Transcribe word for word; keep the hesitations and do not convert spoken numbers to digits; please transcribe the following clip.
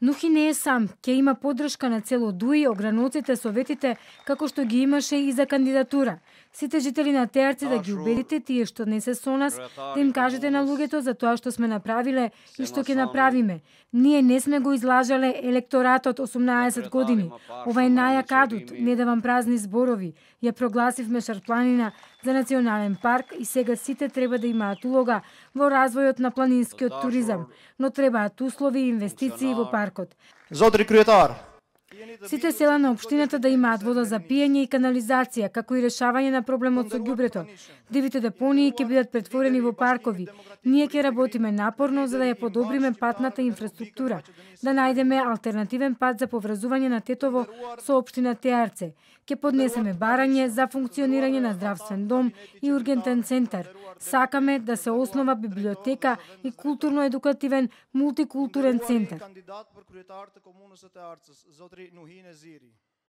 Нухи не е сам, ќе има поддршка на цело ДУИ, ограноците, советите, како што ги имаше и за кандидатура. Сите жители на Теарци да ги убедите тие што не се со нас, да им кажете на луѓето за тоа што сме направиле и што ќе направиме. Ние не сме го излажале електоратот осумнаесет години. Ова е најак адут, не давам празни зборови. Ја прогласивме Шарпланина за национален парк и сега сите треба да имаат улога во развојот на планинскиот туризам, но требаат услови и инвестиции во паркот. Зодри Круетар. Сите села на општината да имаат вода за пиење и канализација, како и решавање на проблемот со ѓубрето. Дивите депонии ќе бидат претворени во паркови. Ние ќе работиме напорно за да ја подобриме патната инфраструктура, да најдеме алтернативен пат за поврзување на Тетово со општина Теарце. Ќе поднесеме барање за функционирање на здравствен дом и ургентен центар. Сакаме да се основа библиотека и културно-едукативен мултикултурен центар.